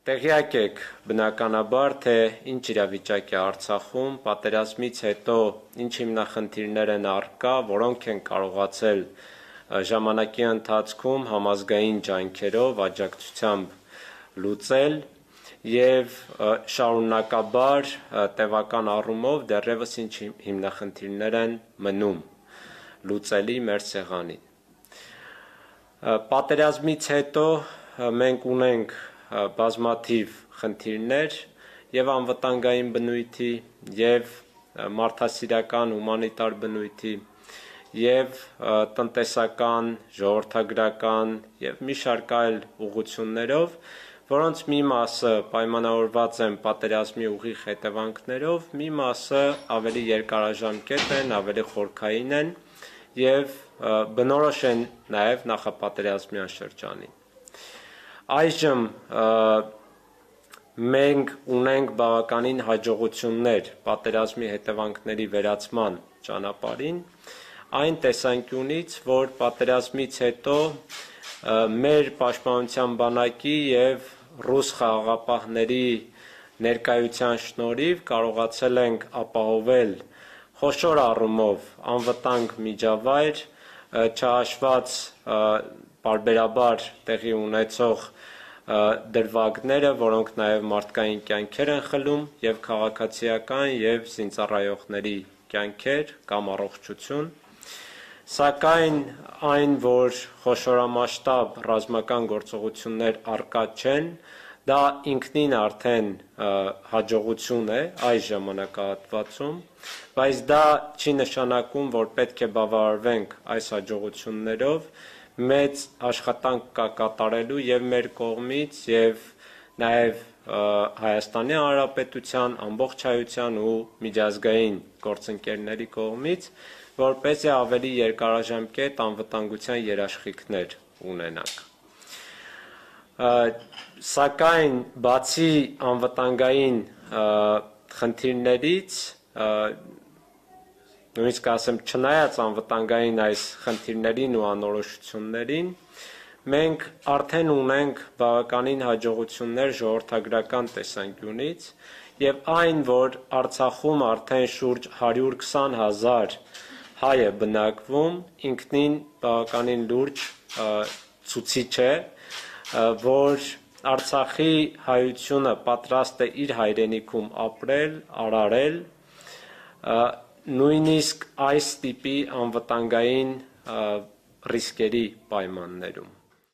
Տեղյակ եք բնականաբար, թե ինչ իրավիճակ է Արցախում, պատերազմից հետո ինչ հիմնախնդիրներ են առկա, որոնք են կարողացել ժամանակի ընթացքում համազգային ջանքերով, աջակցությամբ լուծել և շարունակաբար տևական առումով դեռևս ինչ հիմնախնդիրներ են մնում լուծելի մեր սեղանին։ Պատերազմից հետո մենք ունենք բազմաթիվ խնդիրներ և անվտանգային բնույթի, և մարդասիրական հումանիտար բնույթի, և տնտեսական, ժողովրդագրական և մի շարք այլ ուղղություններով, որոնց մի մասը պայմանավորված են պատերազմի ուղիղ հետևանքներով, մի մասը ավելի երկարաժամկետ են, ավելի խորքային են և բնորոշ են նաև նախապատերազմյան շրջանին։ Այժմ մենք ունենք բավականին հաջողություններ պատերազմի հետևանքների վերացման ճանապարհին, այն տեսանկյունից, որ պատերազմից հետո մեր պաշտպանության բանակի և ռուս խաղաղապահների ներկայության շնորհիվ կարողացել ենք ապահովել խոշոր առումով անվտանգ միջավայր, չհաշված պարբերաբար տեղի ունեցող դրվագները, որոնք նաև մարդկային կյանքեր են խլում, և քաղաքացիական և զինծառայողների կյանքեր կամ առողջություն, սակայն այն, որ խոշորամասշտաբ ռազմական գործողություններ առկա չեն, դա ինքնին արդեն հաջողություն է այս ժամանակահատվածում, բայց դա չի նշանակում, որ պետք է բավարարվենք այս հաջողություններով, մեծ աշխատանք կա կատարելու և մեր կողմից, և նաև Հայաստանի Հանրապետության, ամբողջայության ու միջազգային գործընկերների կողմից, որպեսզի ավելի երկարաժամկետ անվտանգության երաշխիքներ ունենանք։ Սակայն բացի անվտանգային խնդիրներից, նույնիսկ ասեմ չնայած անվտանգային այս խնդիրներին ու անորոշություններին, մենք արդեն ունենք բավականին հաջողություններ ժողովրդագրական տեսանկյունից, և այն, որ Արցախում արդեն շուրջ 120,000 հայ է բնակվում, ինքնին բավականին լուրջ ցուցիչ է, որ Արցախի հայությունը պատրաստ է իր հայրենիքում ապրել, արարել, նույնիսկ այս տիպի անվտանգային ռիսկերի պայմաններում։